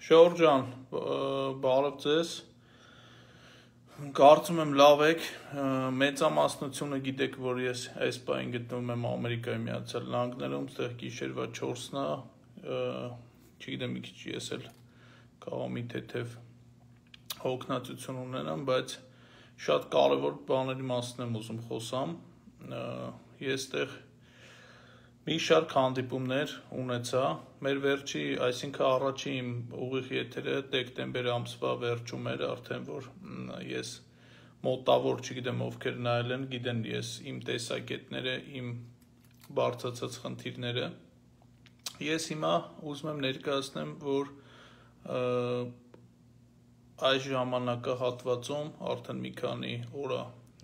Շորժ ջան, բարև ձեզ։ Կարծում եմ լավ եք, մեծամասնությունը գիտեք, որ ես այս պահին գտնվում եմ Ամերիկայի Միացյալ Նահանգներում, ստեղ գիշերվա 4-ն է, չգիտեմ մի քիչ ես էլ կարող մի թեթև հոգնածություն ունենամ, բայց շատ կարևոր բաների մասին եմ ուզում խոսամ։ Ես ստեղ մի շարք հանդիպումներ ունեցա, մեր վերջի, այսինքն առաջի իմ ուղիղ եթերը դեկտեմբեր ամսվա վերջում էր, արդեն որ ես մոտավոր, չգիտեմ ովքեր նայել են, գիտեն ես իմ տեսակետները, իմ բարձրացած խնդիրները։ Ես հիմա ուզում եմ ներկայացնեմ, որ այս ժամանակահատվածում արդեն մի քանի օր,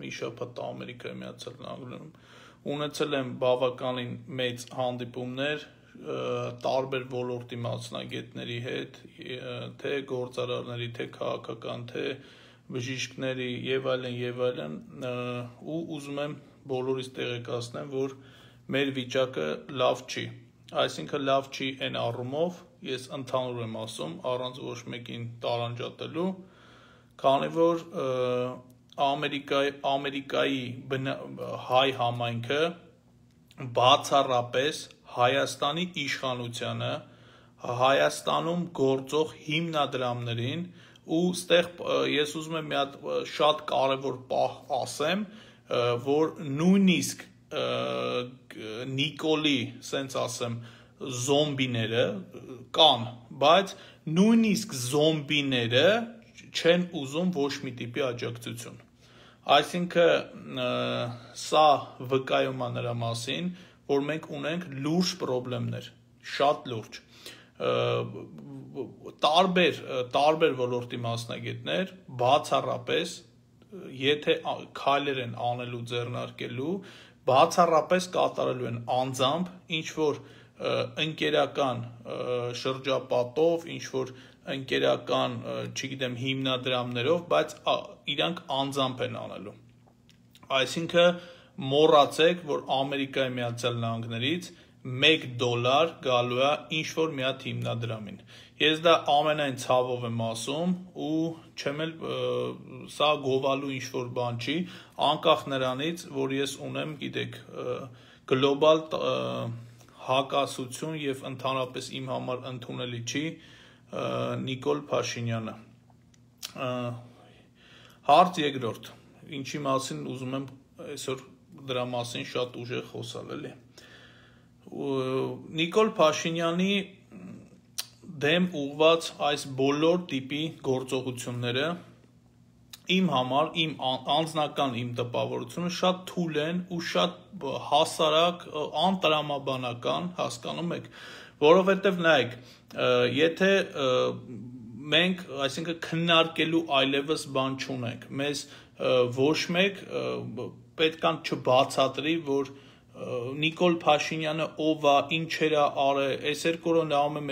մի շաբաթ Ամերիկայի Միացյալ Նահանգներում ունեցել եմ բավականին մեծ հանդիպումներ տարբեր ոլորտի մասնագետների հետ, թե գործարարների, թե քաղաքական, թե բժիշկների եւ այլն, ու ուզում եմ բոլորիս տեղեկացնեմ, որ մեր վիճակը լավ չի, այսինքն լավ չի այն առումով, ես ընդհանուր եմ ասում, առանց ոչ մեկին տարանջատելու, քանի որ Ամերիկայի հայ համայնքը բացառապես Հայաստանի իշխանությանը, Հայաստանում գործող հիմնադրամներին ու ստեղ ես ուզում եմ մի հատ շատ կարևոր պահ ասեմ, որ նույնիսկ Նիկոլի, սենց ասեմ, զոմբիները կան, բայց նույնիսկ զոմբիները չեն ուզում ոչ մի տիպի աջակցություն։ Այսինքն սա վկայում է նրա մասին, որ մենք ունենք լուրջ խնդիրներ, շատ լուրջ, տարբեր ոլորտի մասնագետներ, բացառապես, եթե քայլեր են անելու ձեռնարկելու, բացառապես կատարելու են անձամբ, ինչ-որ ընկերական շրջապատով, ինչ-որ ընկերական, չգիտեմ, հիմնադրամներով, բայց իրանք անձամբ են անելու։ Այսինքն մոռացեք, որ Ամերիկայի Միացյալ Նահանգներից $1 գալու է ինչ-որ մի հատ հիմնադրամին։ Ես դա ամենայն ցավով եմ ասում ու չեմ էլ սա գովալու ինչ-որ բան չի, անկախ նրանից, որ ես ունեմ, գիտեք, գլոբալ հակասություն եւ ընդհանրապես իմ համար ընդունելի չի Նիկոլ Փաշինյանը։ Հարց երկրորդ, ինչի մասին ուզում եմ այսօր դրա մասին շատ ուժեղ խոսալ, էլի։ Նիկոլ Փաշինյանի դեմ ուղված այս բոլոր տիպի գործողությունները իմ համար, իմ անձնական իմ տպավորությունը շատ թույլ են ու շատ հասարակ, անտրամաբանական, հասկանում եք, որովհետև նայեք, եթե մենք, այսինքն քննարկելու այլևս բան չունենք, մեզ ոչ մեկ պետքան չբացատրի, որ Նիկոլ Փաշինյանը ով է, ինչեր է արել, այս երկու օրը նայում եմ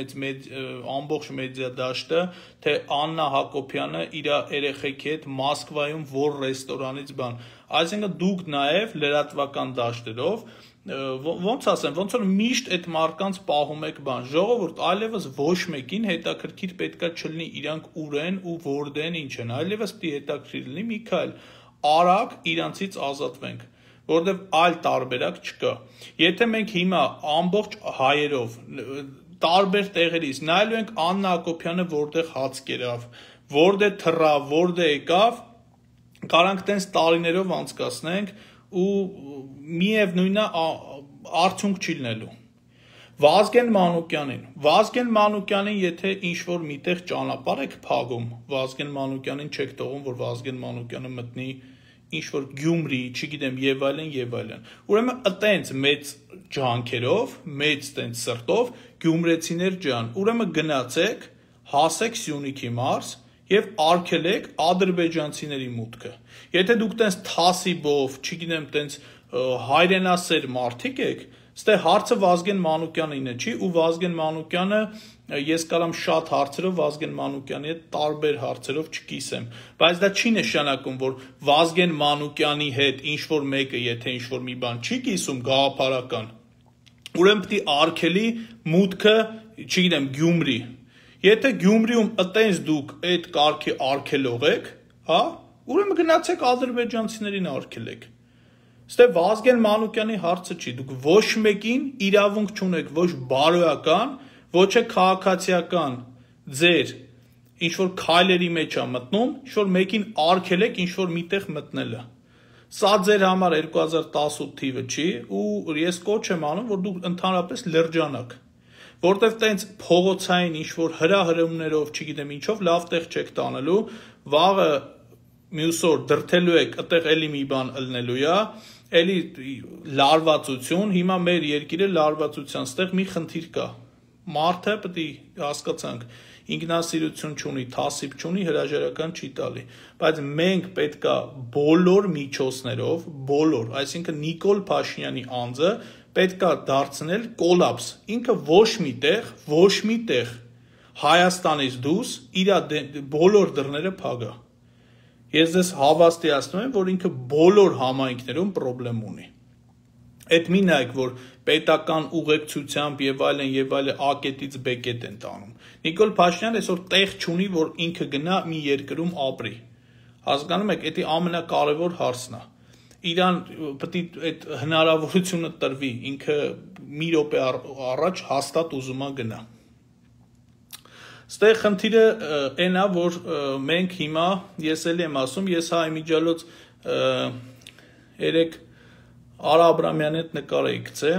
ամբողջ մեդիա դաշտը, թե Աննա Հակոբյանը իր երեխեքի հետ Մոսկվայում որ ռեստորանից բան, այսինքն դուք նաև լրատվական դաշտերով ոնց ասեմ, ոնց որ միշտ այդ մարդկանց պահում եք բան, ժողովուրդ, այլևս ոչ մեկին հետաքրքիր պետքա չլինի իրանք ուր են ու որտեն ինչ են, այլևս պիտի հետաքրքիր լինի մի քայլ արագ իրանցից ազատվենք, որովհետև այլ տարբերակ չկա։ Եթե մենք հիմա ամբողջ հայերով տարբեր տեղերից նայելու ենք Աննա Հակոբյանը որտեղ հաց կերավ, որտեղ թռավ, որտեղ եկավ, կարանք տենց տարիներով անցկացնենք ու միևնույնն է արդյունք չի լինելու։ Վազգեն Մանուկյանին եթե ինչ-որ միտեղ ճանապարհ եք փագում, Վազգեն Մանուկյանին չեք թողում, որ Վազգեն Մանուկյանը մտնի ինչ-որ Գյումրի, չգիտեմ, եւ այլն, ուրեմն այտենց մեծ ջանքերով, մեծ տենց սրտով, գյումրեցիներ ջան, ուրեմն գնացեք, հասեք Սյունիքի մարզ եւ արգելեք ադրբեջանցիների մուտքը։ Եթե դուք տենց թասիբով, չգիտեմ, տենց հայրենասեր մարդիկ եք, ստե հարցը Վազգեն Մանուկյանինը չի ու Վազգեն Մանուկյանը ես կարամ շատ հարցերով Վազգեն Մանուկյանի հետ տարբեր հարցերով չկիսեմ, բայց դա չի նշանակում, որ Վազգեն Մանուկյանի հետ ինչ-որ մեկը, եթե ինչ-որ մի բան չի կիսում գաղափարական, ուրեմն պիտի արգելի մուտքը, չգիտեմ, Գյումրի։ Եթե Գյումրիում ըտենց դուք այդ կարգի արգելող եք, հա, ուրեմն գնացեք ադրբեջանցիներին արգելեք։ Ստե Վազգեն Մանուկյանի հարցը չի, դուք ոչ մեկին իրավունք չունեք, ոչ բարոյական, ոչ է քաղաքացիական ձեր ինչ որ քայլերի մեջ է մտնում, ինչ որ մեկին արգելեք ինչ որ միտեղ մտնելը։ Սա ձեր համար 2018 թիվը չի ու ես կոչ եմ անում, որ դուք ընդհանրապես լրջանաք, որտեվ տենց փողոցային ինչ որ հրահրումներով, չգիտեմ ինչով լավ տեղ չեք տանելու, վաղը մյուս օր դրթելու եք, այդտեղ էլի մի բան ըլնելու է, էլի լարվածություն, հիմա մեր երկիրը լարվածության ստեղ մի խնդիր կա։ Մարդը պետք է հասկացանք, ինքնասիրություն չունի, թասիբ չունի, հրաժարական չի տալի, բայց մենք պետք է բոլոր միջոցներով, բոլոր, այսինքն Նիկոլ Փաշինյանի անձը պետք է դարձնել կոլապս, ինքը ոչ մի տեղ Հայաստանից դուրս իր բոլոր դռները փակա։ Ես ձեզ հավաստիացնում եմ, որ ինքը բոլոր համայնքներում խնդրեմ ունի։ Այդ մի նայեք, որ պետական ուղեկցությամբ եւ այլն A կետից B կետ են տանում։ Նիկոլ Փաշինյանը այսօր տեղ չունի, որ ինքը գնա մի երկրում ապրի։ Հասկանում եք, դա ամենակարևոր հարցն է։ Իրան պետք է այդ հնարավորությունը տրվի, ինքը մի րոպե առաջ հաստատ ուզում է գնա։ Ստեղ խնդիրը այն է, որ մենք հիմա, ես էլ եմ ասում, ես հայ միջալոց երեք Արա Աբրամյանի հետ նկար էի գցե,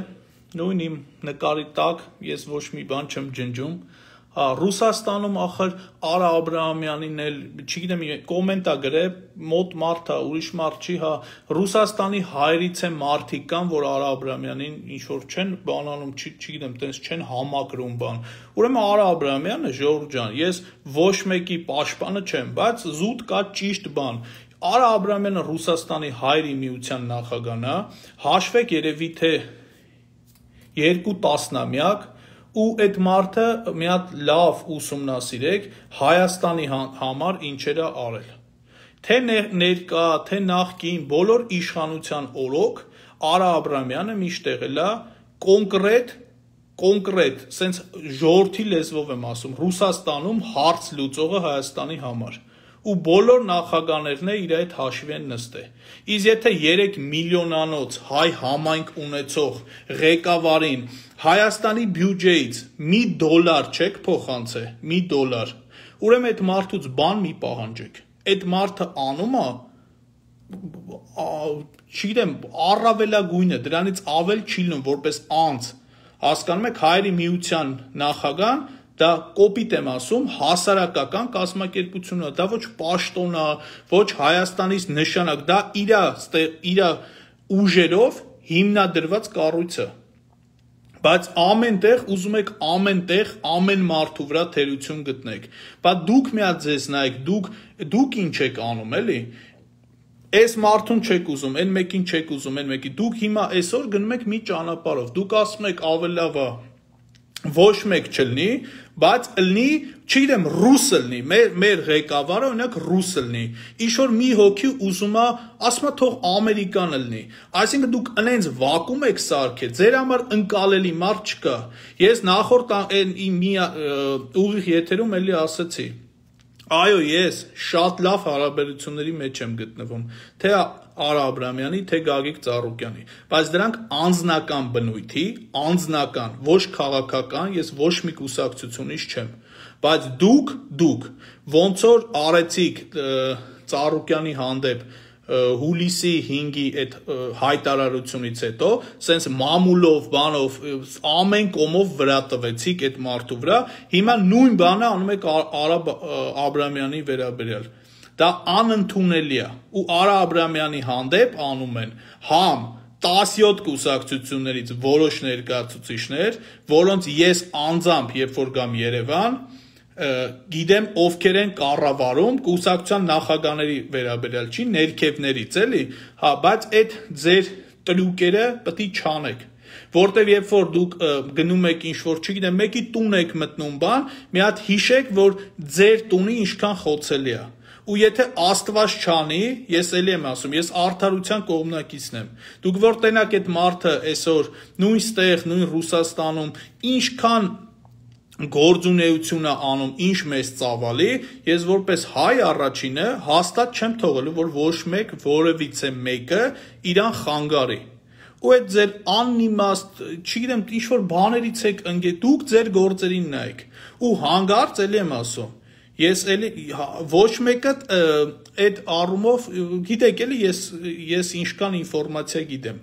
նույն իմ նկարի տակ ես ոչ մի բան չեմ ջնջում, հա, Ռուսաստանում ախր Արա Աբրամյանին էլ, չգիտեմ, կոմենտ է գրել, մոտ մարդ է, ուրիշ մարդ չի, հա, Ռուսաստանի հայրից է մարդիկ կան, որ Արա Աբրամյանին ինչ որ չեն բանանում, չգիտեմ, տենց չեն համակրում բան։ Ուրեմն Արա Աբրամյանը, ժողովուրդ ջան, ես ոչ մեկի պաշտպանը չեմ, բայց զուտ կա ճիշտ բան։ Արա Աբրամյանը Ռուսաստանի հայրի միության նախագահն է, հաշվեք երևի թե 2 տասնամյակ ու այդ մարդը մի հատ լավ ուսումնասիրեք Հայաստանի համար ինչեր է արել։ Թե ներկա, թե նախկին բոլոր իշխանության օրոք Արա Աբրամյանը միշտ եղել է կոնկրետ, սենց ժողովրդի լեզվով եմ ասում, Ռուսաստանում հարց լուծողը Հայաստանի համար։ Ու բոլոր նախագահներն իր այդ հաշվի են նստել։ Իսկ եթե 3 միլիոնանոց հայ համայնք ունեցող ղեկավարին Հայաստանի բյուջեից $1 չեք փոխանցել, $1, ուրեմն այդ մարդուց բան մի պահանջեք։ Այդ մարդը անում է, չգիտեմ, առավելագույնը, դրանից ավել չի լինում որպես անձ։ Հասկանում եք, հայերի միության նախագահան դա կոպիտ եմ ասում, հասարակական կազմակերպություն է, դա ոչ պաշտոն է, ոչ Հայաստանից նշանակ, դա իր ուժերով հիմնադրված կառույց է։ Բայց ամենտեղ ուզում եք ամենտեղ ամեն մարդու վրա թերություն գտնեք։ Բայց դուք մի հատ ձեզ նայեք, դուք ինչ եք անում, էլի։ Այս մարդուն չեք ուզում, այն մեկին չեք ուզում, այն մեկին։ Դուք հիմա այսօր գնում եք մի ճանապարհով։ Դուք ասում եք ավելի լավ է ոչ մեկ չլինի, բայց ըլնի, չգիտեմ, ռուս ըլնի, մեր ղեկավարը օրինակ ռուս ըլնի, ինչ-որ մի հոգի ուզում է, ասում է թող ամերիկան ըլնի, այսինքն դուք ընենց վակում եք սարքել, ձեր համար ընկալելի մարդ չկա, ես նախորդ մի ուղիղ եթերում էլի ասացի, այո, ես շատ լավ հարաբերությունների մեջ եմ գտնվում, թե Արա Աբրամյանի, թե Գագիկ Ծառուկյանի, բայց դրանք անձնական բնույթի, անձնական, ոչ քաղաքական, ես ոչ մի կուսակցությունից չեմ, բայց դուք ոնց որ արեցիք Ծառուկյանի հանդեպ հուլիսի 5-ի այդ հայտարարությունից հետո, սենց մամուլով, բանով, ամեն կողմով վրա տվեցիք այդ մարդու վրա, հիմա նույն բանը անում եք Արա Աբրամյանի վերաբերյալ։ Դա անընդունելի է ու Արա Աբրամյանի հանդեպ անում են համ 17 կուսակցություններից որոշ ներկայացուցիչներ, որոնց ես անձամբ երբ որ գամ Երևան, գիտեմ ովքեր են կառավարում կուսակցության նախագահների վերաբերյալ չի, ներքևներից էլի, հա, բայց այդ ձեր տրուկերը պետք է չանեք, որտեվ երբ որ դուք գնում եք ինչ-որ, չգիտեմ, մեկի տուն եք մտնում բան, մի հատ հիշեք, որ ձեր տունը ինչքան խոցելի է։ Ու եթե Աստված չանի, ես էլի եմ ասում, ես արդարության կողմնակիցն եմ։ Դուք որ տենակ այդ մարդը այսօր նույն ստեղ, նույն Ռուսաստանում ինչքան գործունեություն է անում ինչ մեծ ծավալի, ես որպես հայ առաջինը հաստատ չեմ թողելու, որ ոչ մեկ որևիցե մեկը իրան խանգարի։ Ու այդ ձեր անիմաստ, չգիտեմ, ինչ-որ բաներից եք ընկել, դուք ձեր գործերին նայեք։ Ու հանգարց էլի եմ ասում, ես էլի ոչ մեկը այդ առումով, գիտեք էլի, ես ինչքան ինֆորմացիա գիտեմ,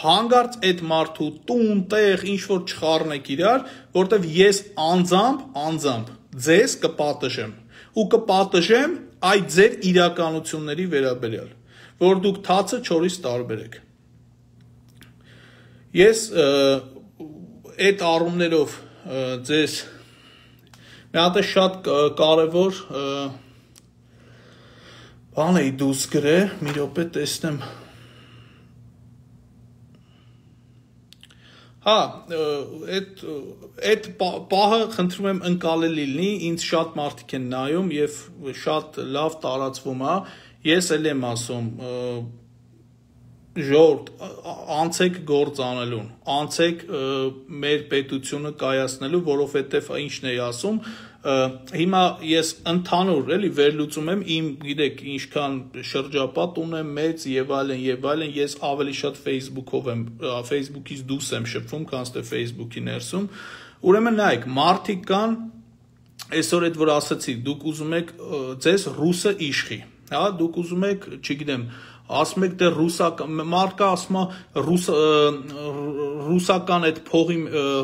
հանգարց այդ մարդու տուն, տեղ, ինչ-որ չխառնեք իրար, որտեվ ես անձամբ ձեզ կպատժեմ, ու կպատժեմ այդ ձեր իրականությունների վերաբերյալ, որ դուք թացը չորից տարբերեք։ Ես այդ առումներով ձեզ մի հատ շատ կարևոր բան էի դուրս գրել, մի րոպե տեսնեմ։ Հա, այդ պահը խնդրում եմ ընկալելի լինի, ինձ շատ մարդիկ են նայում եւ շատ լավ տարածվում է, ես էլ եմ ասում, ժողովուրդ, անցեք գործ անելուն, անցեք մեր պետությունը կայացնելու, որովհետև ինչն էի ասում, հիմա ես ընդհանուր էլի վերլուծում եմ իմ, գիտեք, ինչքան շրջապատ ունեմ մեծ եւ այլն, ես ավելի շատ Facebook-ից դուրս եմ շփվում, քան թե Facebook-ի ներսում, ուրեմն նայեք, մարդիկ կան, այսօր այդ որ ասացի, դուք ուզում եք ձեզ ռուսը իշխի, հա, դուք ուզում եք, չգիտեմ, ասում եք դե ռուսական, մարդը ասում է ռուսական այդ փողի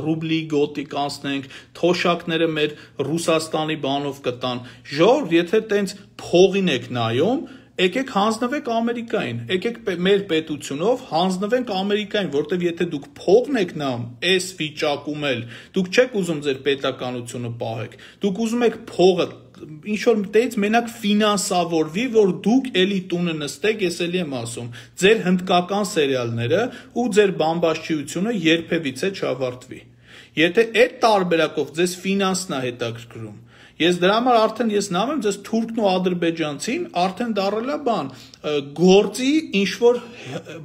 ռուբլի գոտի կանցնենք, թոշակները մեր Ռուսաստանի բանով կտան, ժողովուրդ, եթե տենց փողին եք նայում, եկեք հանձնվեք Ամերիկային, եկեք մեր պետությունով հանձնվենք Ամերիկային, որտեվ եթե դուք փողն եք նայում, այս վիճակում էլ, դուք չեք ուզում ձեր պետականությունը պահեք, դուք ուզում եք փողը ինչ-որ մտից մենակ ֆինանսավորվի, որ դուք էլի տունը նստեք, ես էլի եմ ասում, ձեր հնդկական սերիալները ու ձեր բամբաշչիությունը երբևիցե չավարտվի։ Եթե այդ տարբերակով ձեզ ֆինանսն է հետաքրքրում, ես դրա համար արդեն ես նայում եմ ձեզ թուրքն ու ադրբեջանցին, արդեն դառել է բան, գործի ինչ-որ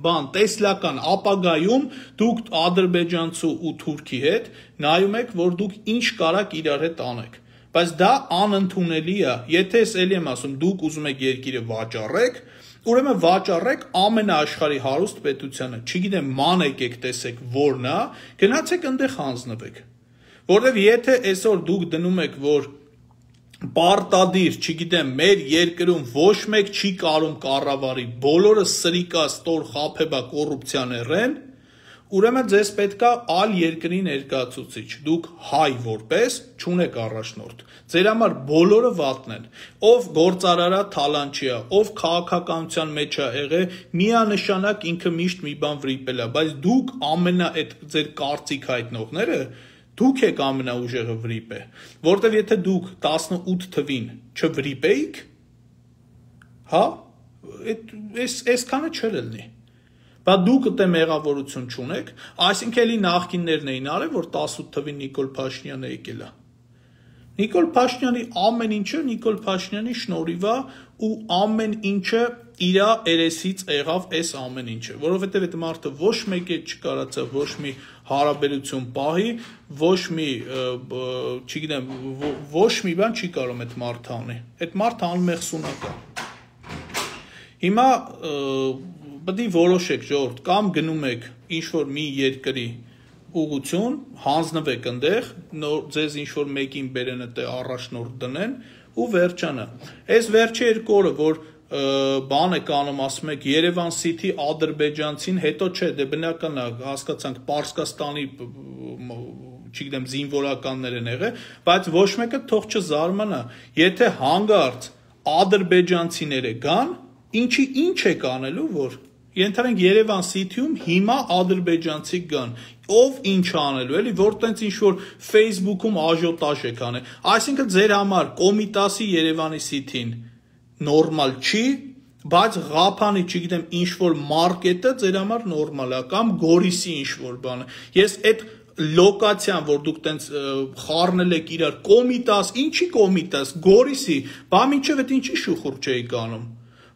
բան, տեսլական ապագայում դուք ադրբեջանցու ու թուրքի հետ նայում եք, որ դուք ինչ կարաք իրար հետ անեք։ Բայց դա անընդունելի է, եթե ես էլի եմ ասում, դուք ուզում եք երկիրը վաճառեք, ուրեմն վաճառեք ամենաաշխարհի հարուստ պետությանը, չգիտեմ, ման եկեք տեսեք որն է, գնացեք այնտեղ հանձնվեք։ Որովհետև եթե այսօր դուք դնում եք, որ պարտադիր, չգիտեմ, մեր երկրում ոչ մեկ չի կարում կառավարի, բոլորը սրիկա, ստոր, խաբեբա, կոռուպցիան են, ուրեմն ձեզ պետքա այլ երկրի ներկայացուցիչ, դուք հայ որպես չունեք առաջնորդ, ձեր համար բոլորը վատն են, ով գործարարա թալանչիա, ով քաղաքականության մեջ է եղել, միանշանակ ինքը միշտ մի բան վրիպել է, բայց դուք ամենա այդ ձեր կարծիք հայտնողները, դուք եք ամենաուժեղը վրիպե, որտեվ եթե դուք 18 թվին չվրիպեիք, հա, այսքանը չէր լինի։ Բա դուք դե մեղավորություն չունեք, այսինքն էլի նախկիններն էին արել, որ 18 թվին Նիկոլ Փաշինյանը եկել է։ Նիկոլ Փաշինյանի ամեն ինչը Նիկոլ Փաշինյանի շնորհիվ է ու ամեն ինչը իր երեսից եղավ այս ամեն ինչը, որովհետև այդ մարդը ոչ մեկ է չկարացավ ոչ մի հարաբերություն պահի, ոչ մի, չգիտեմ, ոչ մի բան չի կարող այդ մարդը անի։ Այդ մարդը անմեղսունակ է։ Հիմա պետք է որոշեք ժողովուրդ, կամ գնում եք ինչ-որ մի երկրի ուղղություն, հանձնվեք այնտեղ, ձեզ ինչ-որ մեկին բերեն այդտեղ առաջնորդ դնեն ու վերջանը։ Այս վերջի երկու օրը, որ բան եք անում, ասում եք Երևան City ադրբեջանցին, հետո չէ, դե բնական է, հասկացանք Պարսկաստանի, չգիտեմ, զինվորականներ են եղել, բայց ոչ մեկը թող չզարմանա, եթե հանգարց ադրբեջանցիները գան, ինչ եք անելու, որ ենթադրենք Երևան City-ում հիմա ադրբեջանցի գան, ով ինչ անելու, էլի, որ տենց ինչ-որ Facebook-ում աժոտաժ եք անել, այսինքն ձեր համար Կոմիտասի Երևանի City-ն նորմալ չի, բայց Ղափանի, չգիտեմ, ինչ-որ մարկետը ձեր համար նորմալ է, կամ Գորիսի ինչ-որ բանը, ես այդ լոկացիան, որ դուք տենց խառնել եք իրար, Կոմիտաս, ինչի Կոմիտաս, Գորիսի, բա մինչև այդ ինչի շուխուր չէիք անում,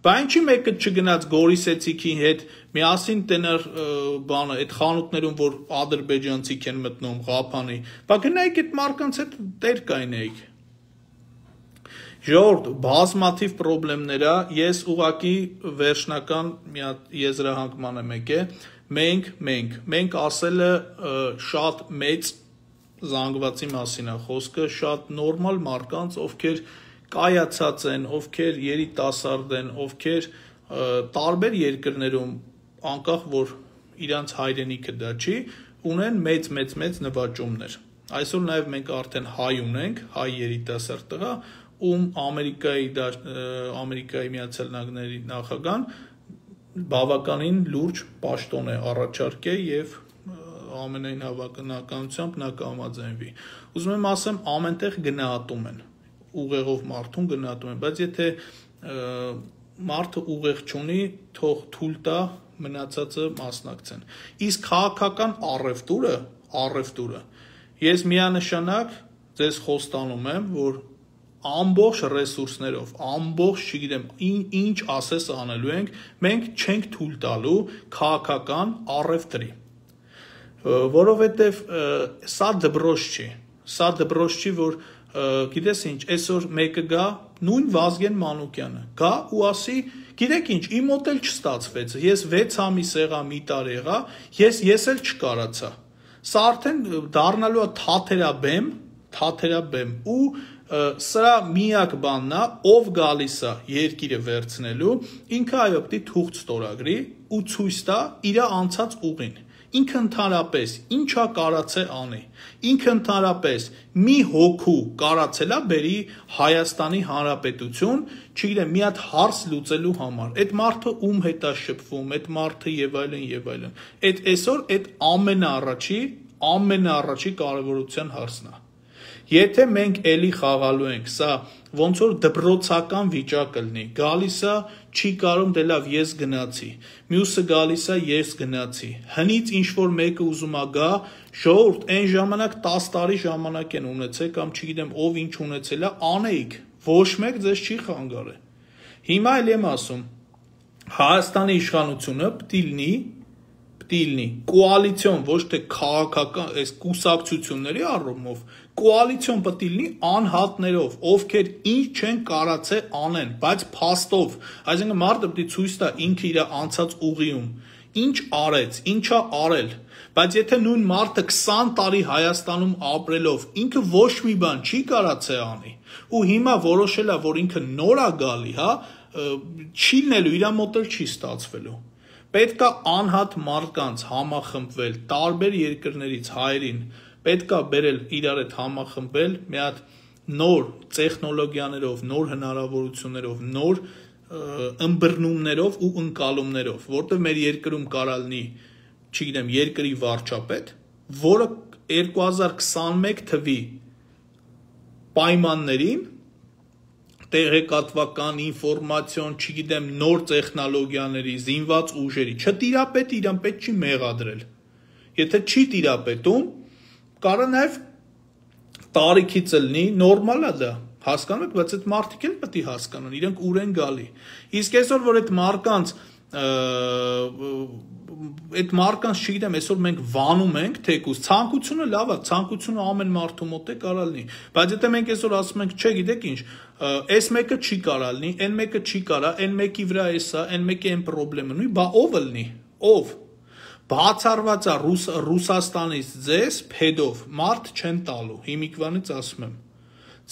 Բա ինչի մեկը չգնաց Գորիսեցիքի հետ միասին տենար բանը այդ խանութներում որ ադրբեջանցիք են մտնում Ղափանի բա գնայիք այդ մարկանց հետ տեր կայնեիք ժողովուրդ բազմաթիվ խնդիրներ ա ես ուղղակի վերջնական մի հատ եզրահանգման եմ եկել մենք ասելը շատ մեծ զանգվածի մասին է խոսքը շատ նորմալ մարկանց ովքեր կայացած են, ովքեր երիտասարդ են, ովքեր տարբեր երկրներում անկախ որ իրանց հայրենիքը դա չի, ունեն մեծ նվաճումներ։ Այսօր նաև մենք արդեն հայ ունենք, հայ երիտասարդ տղա, ում Ամերիկայի Միացյալ Նահանգների նախագահան բավականին լուրջ պաշտոն է առաջարկել եւ ամենայն հավանականությամբ նա կհամաձայնվի։ Ուզում եմ ասեմ, ամենտեղ գնահատում են ուղեղով մարդուն գնահատում են, բայց եթե մարդը ուղեղ չունի, թող թույլ տա մնացածը մասնակցեն։ Իսկ քաղաքական առևտուրը ես միանշանակ ձեզ խոստանում եմ, որ ամբողջ ռեսուրսներով, ամբողջ, չգիտեմ, ինչ ասես անելու ենք, մենք չենք թույլ տալու քաղաքական առևտրի։ Որովհետև սա դբրոց չի, որ գիտես ինչ, այսօր մեկը գա, նույն Վազգեն Մանուկյանը, գա ու ասի, գիտեք ինչ, իմ մոտ էլ չստացվեց, ես 6 ամիս եղա, մի տարի եղա, ես էլ չկարացա։ Սա արդեն դառնալու է թաթերաբեմ ու սրա միակ բանն է, ով գալիս է երկիրը վերցնելու, ինքը այո պիտի թուղթ ստորագրի ու ցույց տա իր անցած ուղին։ Ինքը ընդհանրապես ինչա կարացե անի, ինքը ընդհանրապես մի հոգու կարացելա բերի Հայաստանի Հանրապետություն, չգիտեմ, մի հատ հարց լուծելու համար, այդ մարդը ում հետ է շփվում, այդ մարդը եւ այլն, այդ այսօր այդ ամենաառաջի կարևորության հարցն է։ Եթե մենք էլի խաղալու ենք, սա ոնց որ դպրոցական վիճակը լինի, գալիս է, չի կարում դե լավ ես գնացի, մյուսը գալիս է ես գնացի, հնից ինչ որ մեկը ուզում է գա, ժողովուրդ այն ժամանակ 10 տարի ժամանակ են ունեցել կամ չգիտեմ ով ինչ ունեցել է, անեիք, ոչ մեկ ձեզ չի խանգարել։ Հիմա էլ եմ ասում, Հայաստանի իշխանությունը պիտի լինի կոալիցիոն, ոչ թե քաղաքական, այս կուսակցությունների առումով, կոալիցիոն պետք է լինի անհատներով, ովքեր ինչ չեն կարացե անեն, բայց փաստով, այսինքն մարդը պետք է ցույց տա ինքը իր անցած ուղիում, ինչ արեց, ինչա արել, բայց եթե նույն մարդը 20 տարի Հայաստանում ապրելով, ինքը ոչ մի բան չի կարացե անի, ու հիմա որոշել է, որ ինքը նոր է գալի, հա, չի լինելու, իր մոտ էլ չի ստացվելու։ Պետք է անհատ մարդկանց համախմբվել, տարբեր երկրներից հայերին, պետք է բերել իրար հետ համախմբել, մի հատ նոր տեխնոլոգիաներով, նոր հնարավորություններով, նոր ըմբռնումներով ու ընկալումներով, որտեղ մեր երկրում կարա լինի, չգիտեմ, երկրի վարչապետ, որը 2021 թվի պայմաններին տեղեկատվական ինֆորմացիոն, չգիտեմ, նոր տեխնոլոգիաների, զինված ուժերի, չտիրապետի, իրան պետք չի մեղադրել։ Եթե չի տիրապետում, կարա նաև տարիքից լինի, նորմալ է դա, հասկանում եք, բայց այդ մարդիկ էլ պետք է հասկանան, իրենք ուր են գալի։ Իսկ այսօր, որ այդ մարդկանց, չգիտեմ, այսօր մենք վանում ենք, թեկուզ, ցանկությունը լավ է, ցանկությունը ամեն մարդու մոտ է կարա լինի, բայց եթե մենք այսօր ասում ենք, չէ, գիտեք ինչ, այս մեկը չի կարա լինի, այն մեկը չի կարա, այն մեկի վրա է սա, այն մեկի այն պրոբլեմը նույն, բա ով լինի, ով, բացառված է Ռուսաստանից ձեզ փեդով մարդ չեն տալու, հիմիկվանից ասում եմ,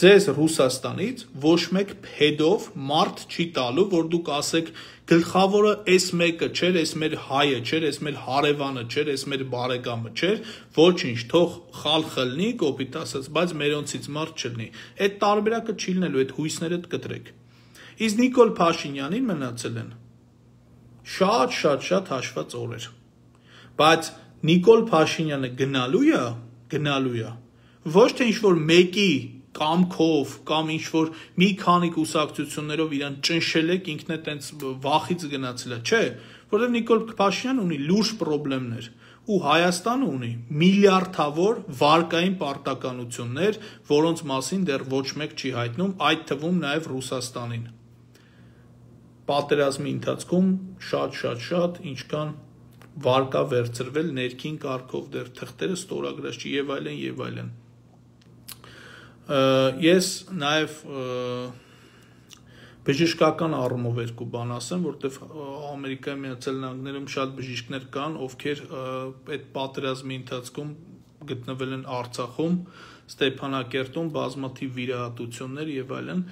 ձեզ Ռուսաստանից ոչ մեկ փեդով մարդ չի տալու, որ դուք ասեք գլխավորը այս մեկը չէր, այս մեր հայը չէր, այս մեր հարևանը չէր, այս մեր բարեկամը չէր, ոչինչ, թող խալխլ լինի, կոպիտ ասած, բայց մերոնցից մարդ չլինի։ Այդ տարբերակը չի լինելու, այդ հույսները կտրեք։ Իսկ Նիկոլ Փաշինյանին մնացել են շատ հաշված օրեր։ Բայց Նիկոլ Փաշինյանը գնալու է, ոչ թե ինչ-որ մեկի կամքով կամ ինչ-որ մի քանի կուսակցություններով իրան ճնշել եք, ինքն է տենց վախից գնացել է, չէ, որովհետև Նիկոլ Փաշինյանը ունի լուրջ պրոբլեմներ ու Հայաստանը ունի միլիարդավոր վարկային պարտականություններ, որոնց մասին դեռ ոչ մեկ չի հայտնում, այդ թվում նաև Ռուսաստանին։ պատերազմի ընթացքում շատ ինչքան վարկա վերցրվել ներքին կարգով դեռ թղթերը ստորագրած չի եւ այլն ես նաեւ բժշկական առումով երկու բան ասեմ, որտեվ Ամերիկայի Միացյալ Նահանգներում շատ բժիշկներ կան, ովքեր այդ պատերազմի ընթացքում գտնվել են Արցախում, Ստեփանակերտում, բազմաթիվ վիրահատություններ եւ այլն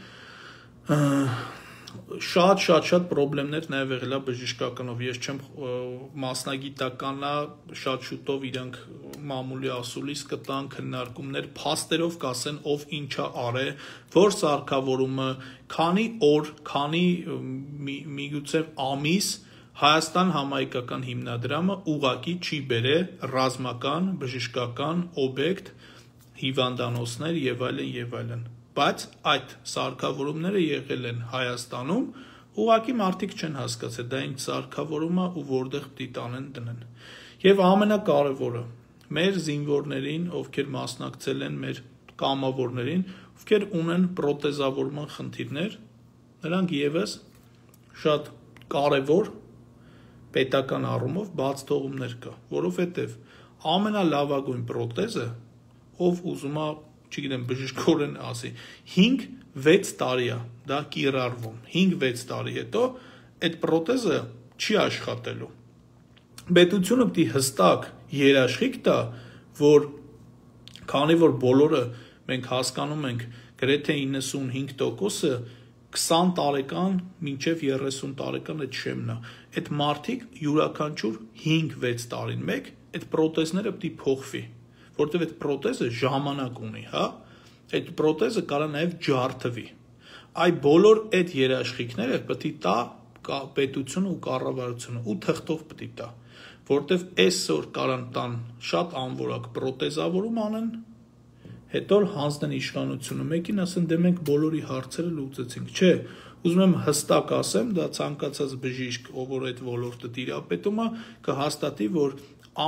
շատ խնդիրներ նաև եղել է բժշկականով ես չեմ մասնագիտականա շատ շուտով իրանք մամուլի ասուլիս կտան քննարկումներ փաստերով կասեն ով ինչա արե որ սարքավորումը քանի օր քանի միգուցե ամիս Հայաստան համայնքական հիմնադրամը ուղակի չի բերել ռազմական բժշկական օբյեկտ հիվանդանոցներ եւ այլն Բայց այդ սարքավորումները եղել են Հայաստանում, ուղղակի մարդիկ չեն հասկացել, դա ինչ սարքավորում է ու որտեղ պիտի տանեն դնեն։ Եվ ամենակարևորը, մեր զինվորներին, ովքեր մասնակցել են մեր կամավորներին, ովքեր ունեն պրոթեզավորման խնդիրներ, նրանք եւս շատ կարևոր պետական առումով բաց թողումներ կա, որովհետեւ ամենալավագույն պրոթեզը, ով ուզում է չգիտեմ բժշկորեն ասի 5-6 տարի է դա կիրառվում 5-6 տարի հետո այդ պրոթեզը չի աշխատելու պետությունը պիտի հստակ երաշխիք տա որ քանի որ բոլորը մենք հասկանում ենք գրեթե 95%-ը 20 տարեկան մինչև 30 տարեկան այդ շեմն է այդ մարդիկ յուրաքանչյուր 5-6 տարին մեկ այդ պրոթեզները պիտի փոխվի որտեվ այդ պրոթեզը ժամանակ ունի, հա, այդ պրոթեզը կարա նաև ջարդվի։ Այ բոլոր այդ երաշխիքները պետք է տա պետությունը ու կառավարությունը ու թղթով պետք է տա, որտեվ այսօր կարան տան շատ անորակ պրոթեզավորում անեն, հետո հանձնեն իշխանությունը մեկին ասեն դե մենք բոլորի հարցերը լուծեցինք, չէ, ուզում եմ հստակ ասեմ, դա ցանկացած բժիշկ, ով որ այդ ոլորտը տիրապետում է, կհաստատի, որ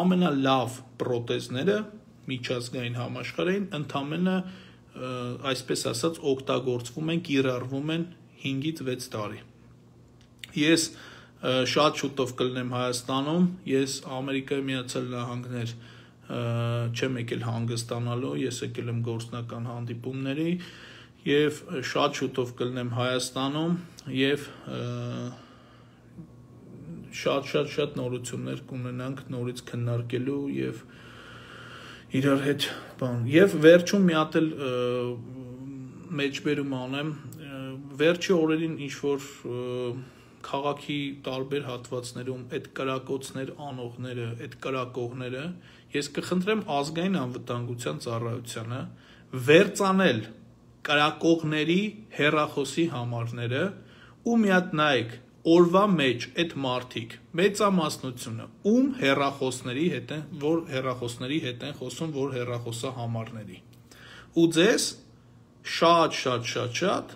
ամենալավ պրոթեզները միջազգային համաշխարհային ընդամենը այսպես ասած օգտագործվում են կիրառվում են 5-ից 6 տարի ես շատ շուտով կլինեմ Հայաստանում ես Ամերիկայի Միացյալ Նահանգներ չեմ եկել հանգստանալու ես եկել եմ գործնական հանդիպումների եւ շատ շուտով կլինեմ Հայաստանում եւ շատ նորություններ կունենանք նորից քննարկելու եւ իրար հետ բան եւ վերջում մի հատ էլ մեջբերում անեմ վերջի օրերին ինչ որ քաղաքի տարբեր հատվածներում այդ կրակոցներ անողները այդ կրակողները ես կխնդրեմ ազգային անվտանգության ծառայությանը վերցանել կրակողների հեռախոսի համարները ու մի հատ նայեք օրվա մեջ այդ մարդիկ մեծամասնությունը ում հեռախոսների հետ են որ հեռախոսների հետ են խոսում որ հեռախոսա համարների ու ձեզ շատ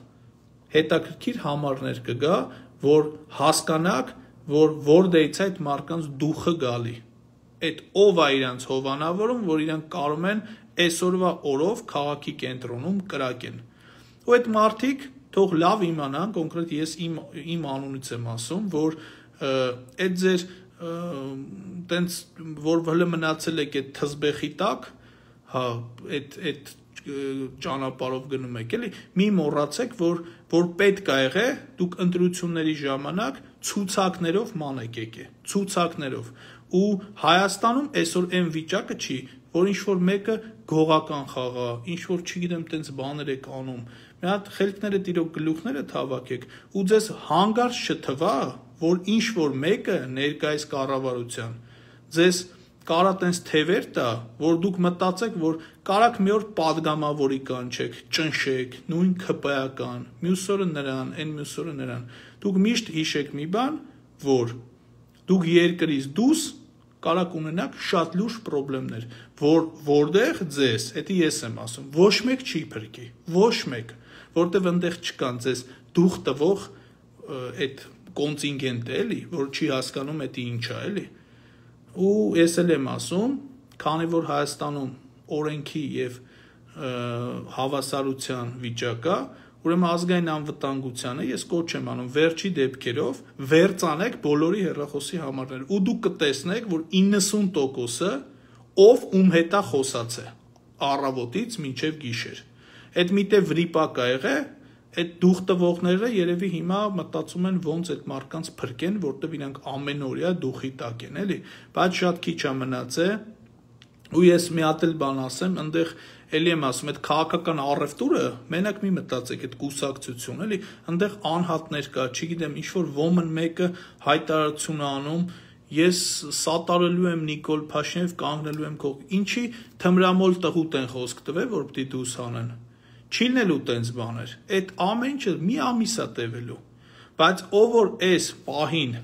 հետաքրքիր համարներ կգա որ հասկանաք որ որտեղից այդ մարկանց դուխը գալի այդ ով է իրանց հովանավորում որ իրանք կարող են այսօրվա օրով քաղաքի կենտրոնում կրակեն ու այդ մարդիկ թող լավ իմանան կոնկրետ ես իմ անունից եմ ասում որ այդ ձեր տենց որ հələ մնացել եք այդ թզբեխի տակ հա այդ ճանապարհով գնում եք էլի մի մոռացեք որ պետք է եղե դուք ընտրությունների ժամանակ ցուցակներով մանեք եկե ցուցակներով ու Հայաստանում այսօր այն վիճակը չի որ ինչ որ մեկը գողական խաղա ինչ որ չգիտեմ տենց բաներ եք անում մի հատ խելքները տիրող գլուխները թավակեք ու ձեզ հանգարց չթվա որ ինչ որ մեկը ներկայիս կառավարության ձեզ կարա տենց թևեր տա որ դուք մտածեք որ կարաք մի օր падգամավորի կանչեք ճնշեք նույն ԿՊԱ-ական մյուս օրը նրան այն մյուս օրը նրան դուք միշտ հիշեք մի բան որ դուք երկրից դուրս կարաք ունենաք շատ լուրջ խնդիրներ որտեղ ձեզ դա ես եմ ասում ոչ մեկ չի փրկի ոչ մեկ որտեղ այնտեղ չկան ձեզ դուխ տվող այդ կոնտինգենտը էլի որ չի հասկանում դա ինչ է էլի ու ես էլ եմ ասում քանի որ Հայաստանում օրենքի եւ հավասարության վիճակ է Ուրեմն ազգային անվտանգությանը ես կոչ եմ անում վերջի դեպքերով վերցանեք բոլորի հեռախոսի համարները ու դուք կտեսնեք, որ 90%-ը ով ում հետ է խոսած է առավոտից մինչև գիշեր։ Այդ միտեղ վրիպակ ա եղել, այդ դուխ տվողները երևի հիմա մտածում են ոնց այդ մարդկանց փրկեն, որտեվ իրանք ամենօրյա դուխի տակ են, էլի, բայց շատ քիչ է մնացել։ Ու ես մի հատ էլ բան ասեմ, այնտեղ էլի եմ ասում, այդ քաղաքական առևտուրը, մենակ մի մտածեք, այդ կուսակցություն, էլի, այնտեղ անհատներ կա, չգիտեմ, ինչ որ ոմն մեկը հայտարարություն է անում, ես սատարելու եմ Նիկոլ Փաշինյանը, կանգնելու եմ քո, ինչի թմրամոլ տղուտ են խոսք տվել, որ պիտի դուս հանեն։ Չի լինելու տենց բաներ, այդ ամեն ինչը մի ամիս է տևելու, բայց ով որ էս պահին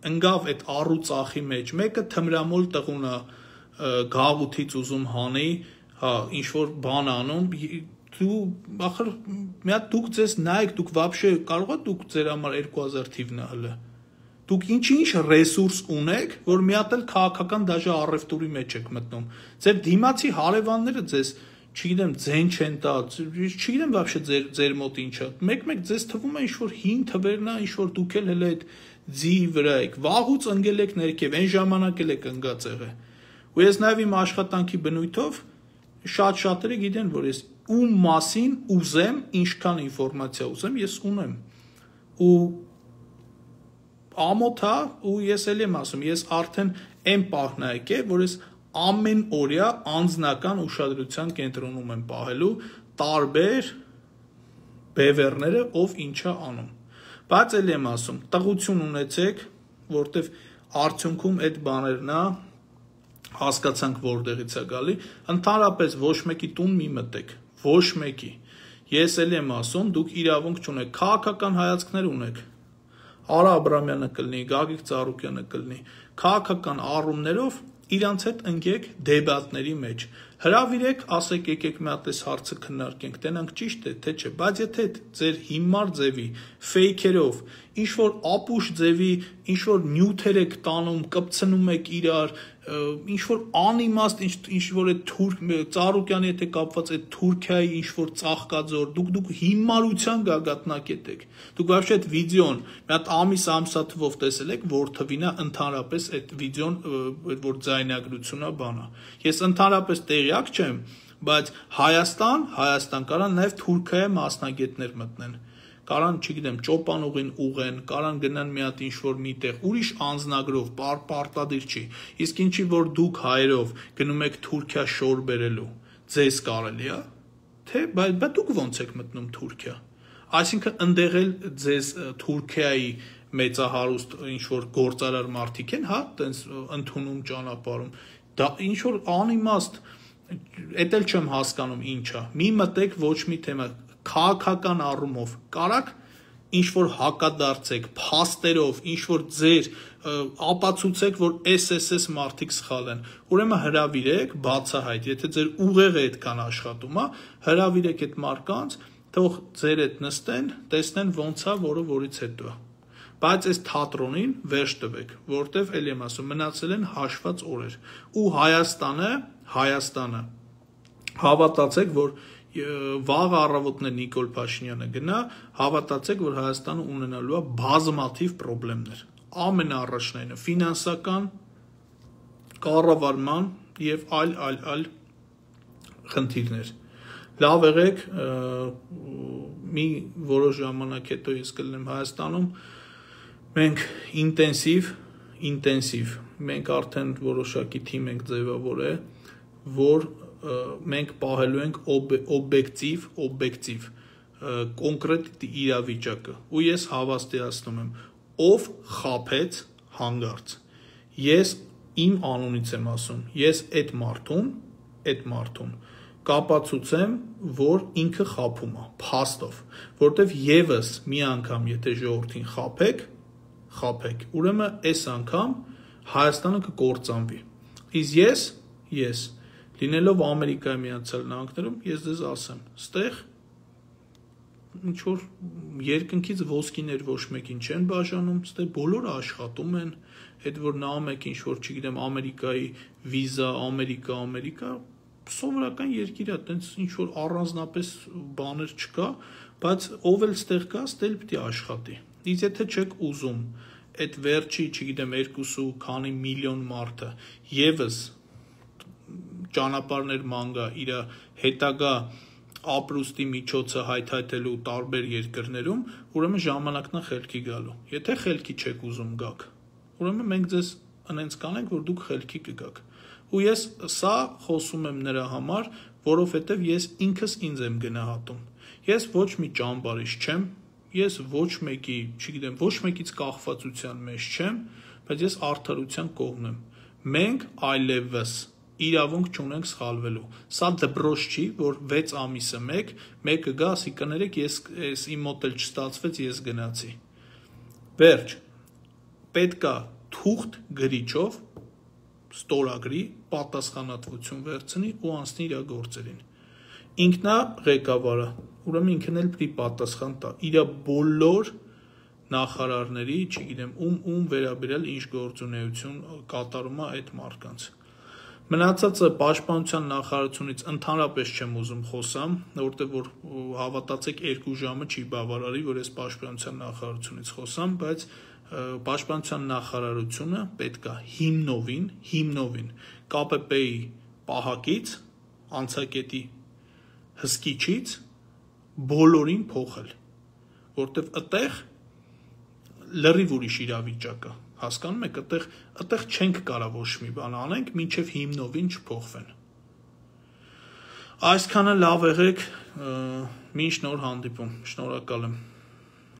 ընկավ այդ առուծախի մեջ, մեկը թմրամոլ տղուն է գաղութից ուզում հանի, հա, ինչ-որ բան անում, դու, ախր, մի հատ դուք ձեզ նայեք, դուք վաբշե կարող եք դուք ձեր համար 2000 թիվն է հլը, դուք ինչ ռեսուրս ունեք, որ մի հատ էլ քաղաքական դաժե առևտուրի մեջ եք մտնում, ձեր դիմացի հարևանները ձեզ, չգիտեմ, ձեն չեն տա, չգիտեմ վաբշե ձեր մոտ ինչ է, մեկ-մեկ ձեզ թվում է ինչ-որ հին թվերն է, ինչ-որ դուք էլ հլը այդ ձի վրա եք, վաղուց ընկել եք ներքև, այն ժամանակ էլ եք ընկած եղել։ Ու ես նաև իմ աշխատանքի բնույթով շատ-շատերը գիտեն, որ ես ում մասին ուզեմ, ինչքան ինֆորմացիա ուզեմ, ես ունեմ։ Ու ամոթ է, ու ես էլ եմ ասում, ես արդեն այն պահն է եկել, որ ես ամեն օրյա անձնական ուշադրության կենտրոնում եմ պահելու տարբեր բևեռները, ով ինչա անում։ Բայց էլ եմ ասում, տղություն ունեցեք, որտեվ արդյունքում այդ բաներն է, հասկացանք որտեղից է գալի, ընդհանրապես ոչ մեկի տուն մի մտեք, ոչ մեկի։ Ես էլ եմ ասում, դուք իրավունք չունեք, քաղաքական հայացքներ ունեք։ Արա Աբրամյանը կլինի, Գագիկ Ծառուկյանը կլինի, քաղաքական առումներով իրանց հետ ընկեք դեբատների մեջ, հրավիրեք, ասեք եկեք մի հատ էս հարցը քննարկենք, տենանք ճիշտ է, թե չէ, բայց եթե ձեր հիմար ձևի, ֆեյքերով, ինչ-որ ապուշ ձևի, ինչ-որ նյութեր եք տանում, կպցնում եք իրար, ինչ-որ անիմաստ, ինչ-որ այդ Ծառուկյանի հետ է կապված այդ Թուրքիայի ինչ-որ ծաղկաձոր, դուք հիմարության գագաթնակետ եք, դուք վաբշե այդ վիդեոն, մի հատ ամսաթվով տեսել եք, որ թվին է ընդհանրապես այդ վիդեոն, որ ձայնագրությունն է բանա, ես ընդհանրապես տեղյակ չեմ, բայց Հայաստան կարան նաև Թուրքիայի մասնագետներ մտնեն, կարան, չգիտեմ, ճոպանուղին ուղեն, կարան գնան մի հատ ինչ-որ միտեղ, ուրիշ անձնագրով, պարտադիր չի, իսկ ինչի որ դուք հայերով գնում եք Թուրքիա շոր բերելու, ձեզ կարելի է, թե, բայց դուք ոնց եք մտնում Թուրքիա, այսինքն ընդեղ էլ ձեզ Թուրքիայի մեծահարուստ ինչ-որ գործարար մարդիկ են, հա, տենց ընդունում ճանապարհում, դա ինչ-որ անիմաստ, էդ էլ չեմ հասկանում ինչա, մի մտեք ոչ մի թեմա, քաղաքական առումով կարաք ինչ-որ հակադարձեք, փաստերով, ինչ-որ ձեր ապացուցեք, որ SSS մարդիկ սխալ են, ուրեմն հրավիրեք, բացահայտ, եթե ձեր ուղեղը այդքան աշխատում է, հրավիրեք այդ մարդկանց, թող ձեր հետ նստեն, տեսնեն ոնց է, որը որից հետո է, բայց այս թատրոնին վերջ տվեք, որտեվ էլ եմ ասում, մնացել են հաշված օրեր, ու Հայաստանը, հավատացեք, որ վաղ առավոտներ Նիկոլ Փաշինյանը գնա, հավատացեք, որ Հայաստանը ունենալու է բազմաթիվ խնդիրներ, ամենաառաջնայինը ֆինանսական, կառավարման եւ այլ խնդիրներ։ Լավ եղեք, մի որոշ ժամանակ հետո ես կլինեմ Հայաստանում, մենք ինտենսիվ, մենք արդեն որոշակի թիմ ենք ձևավորել, որ մենք պահելու ենք օբյեկտիվ կոնկրետ իրավիճակը ու ես հավաստիացնում եմ ով խաբեց հանգարց ես իմ անունից եմ ասում ես այդ մարդուն կապացուցեմ որ ինքը խաբում է փաստով որտեվ եւս մի անգամ եթե ժողովրդին խաբեք ուրեմն այս անգամ Հայաստանը կկործանվի իսկ ես լինելով Ամերիկայի Միացյալ Նահանգներում, ես ձեզ ասեմ, ստեղ ինչ-որ երկնքից ոսկիներ ոչ մեկին չեն բաժանում, ստեղ բոլորը աշխատում են, այդ որ նայում եք ինչ-որ, չգիտեմ, Ամերիկայի վիզա, Ամերիկա, սովորական երկիր է, տենց ինչ որ առանձնապես բաներ չկա, բայց ով էլ ստեղ կա, ստեղ պետք է աշխատի։ Իսկ եթե չեք ուզում այդ վերջի, չգիտեմ, 2 քանի միլիոն մարդը եւս ճանապարհներ ման գա իր հետագա ապրուստի միջոցը հայթայթելու տարբեր երկրներում, ուրեմն ժամանակն է խելքի գալու։ Եթե խելքի չեք ուզում գաք, ուրեմն մենք ձեզ այնց կանենք, որ դուք խելքի կգաք։ Ու ես սա խոսում եմ նրա համար, որովհետև ես ինքս ինձ եմ գնահատում։ Ես ոչ մի ճամբարիշ չեմ, ես ոչ մեկի, չգիտեմ, ոչ մեկից կախվածության մեջ չեմ, բայց ես արդարության կողմ եմ։ Մենք այլևս իրավունք չունենք սխալվելու։ Սա դպրոց չի, որ 6 ամիսը մեկը գա, ասի կներեք, ես իմ մոտ էլ չստացվեց, ես գնացի։ Վերջ, պետքա թուղթ գրիչով ստորագրի, պատասխանատվություն վերցնի ու անցնի իր գործերին։ Ինքնա ղեկավարը, ուրեմն ինքն էլ պիտի պատասխան տա իր բոլոր նախարարների, չգիտեմ, ում վերաբերյալ ինչ գործունեություն կատարում է այդ մարդկանց։ Մնացածը պաշտպանության նախարարությունից ընդհանրապես չեմ ուզում խոսամ, որտեղ որ հավատացեք 2 ժամը չի բավարարի, որ ես պաշտպանության նախարարությունից խոսամ, բայց պաշտպանության նախարարությունը պետք է հիմնովին ԿՊՊ-ի պահակից, անցակետի հսկիչից բոլորին փոխել, որտեղ այդտեղ լրիվ ուրիշ իրավիճակ է, հասկանում եք, այդտեղ չենք կարող ոչ մի բան անենք, մինչև հիմնովին չփոխվեն։ Այսքանը լավ եղեք, մինչ նոր հանդիպում, շնորհակալ եմ։